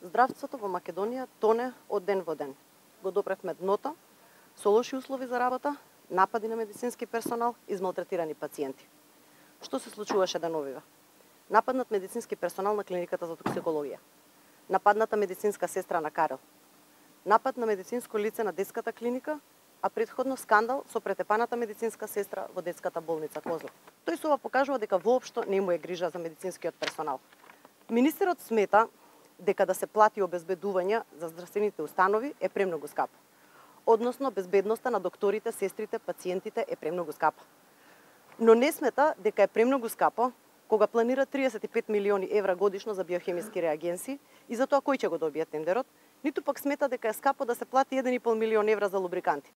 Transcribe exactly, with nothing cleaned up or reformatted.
Здравството во Македонија тоне од ден во ден. Го допревме дното, со лоши услови за работа, напади на медицински персонал, измалтретирани пациенти. Што се случуваше деновива? Нападнат медицински персонал на клиниката за токсикологија. Нападната медицинска сестра на Карел. Напад на медицинско лице на детската клиника, а претходно скандал со претепаната медицинска сестра во детската болница Козле. Тој со ова покажува дека воопшто не му е грижа за медицинскиот персонал. Министерот смета дека да се плати обезбедување за здравствените установи е премногу скапо. Односно, безбедноста на докторите, сестрите, пациентите е премногу скапа. Но не смета дека е премногу скапо кога планира триесет и пет милиони евра годишно за биохемиски реагенси и за тоа кој ќе го добие тендерот, ниту пак смета дека е скапо да се плати еден и пол милион евра за лубриканти.